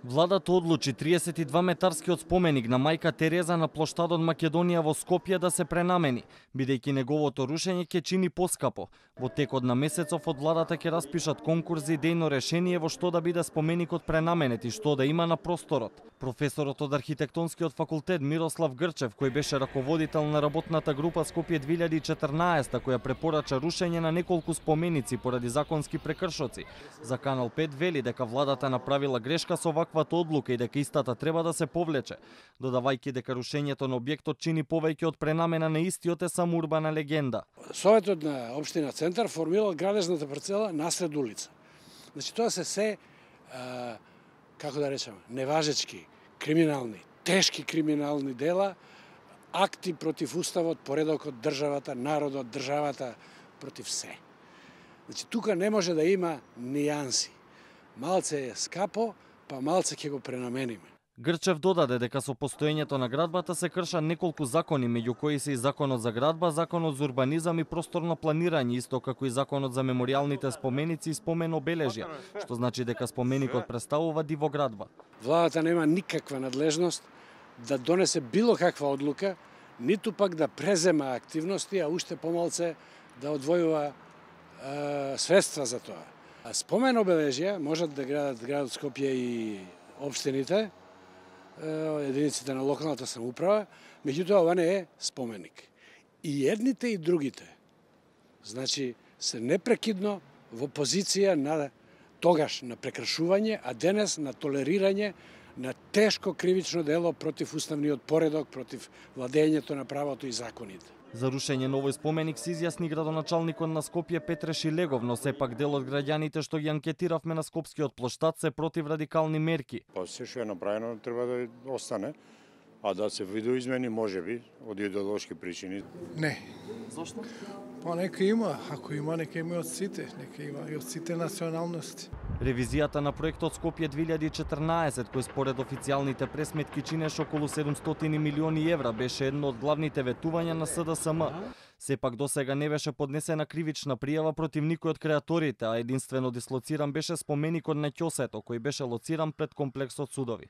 Владата одлучи 32-метарскиот споменик на мајка Тереза на плоштадот Македонија во Скопје да се пренамени, бидејќи неговото рушење ќе чини поскапо. Во текот на месецов од владата ќе распишат конкурс за идејно решение во што да биде споменикот пренаменет и што да има на просторот. Професорот од архитектонскиот факултет Мирослав Грчев, кој беше раководител на работната група Скопје 2014, која препорача рушење на неколку споменици поради законски прекршоци, за Канал 5 вели дека владата направила грешка со ваквата одлука и дека истата треба да се повлече, додавајќи дека рушењето на објектот чини повеќе од пренамена на истиот е само урбана легенда. Советот на општина Центар формирал градежната парцела насред улица. Значи тоа се како да речеме, неважечки, криминални, тешки криминални дела, акти против уставот, поредокот, државата, народот, државата, против се. Значи тука не може да има нијанси. Малце е скапо, па малце ќе го пренамениме. Грчев додаде дека со постоењето на градбата се кршат неколку закони, меѓу кои се и Законот за градба, Законот за урбанизам и просторно планирање, исто како и Законот за меморијалните споменици и спомен обележја, што значи дека споменикот представува дивоградба. Владата нема никаква надлежност да донесе било каква одлука, ниту пак да презема активности, а уште помалце да одвојува средства за тоа. Спомен обележја можат да градат градот Скопје и општините, единиците на локалната самоуправа, меѓутоа ова не е споменик. И едните и другите, значи, се непрекидно во позиција на тогаш на прекршување, а денес на толерирање на тешко кривично дело против уставниот поредок, против владењето на правото и законите. За рушење на овој споменик се изјасни градоначалникот на Скопје Петре Шилегов, но сепак дел од граѓаните што ги анкетиравме на скопскиот плоштад се против радикални мерки. Па се што е направено треба да остане, а да се видоизмени можеби од идеолошки причини. Не. Зошто? Па нека има, ако има нека има од сите, нека има и од сите националности. Ревизијата на проектот Скопје 2014, кој според официјалните пресметки чинеше околу 700 милиони евра, беше едно од главните ветувања на СДСМ. Сепак досега не беше поднесена кривична пријава против никој од креаторите, а единствено дислоциран беше споменикот на Ќосето, кој беше лоциран пред комплексот судови.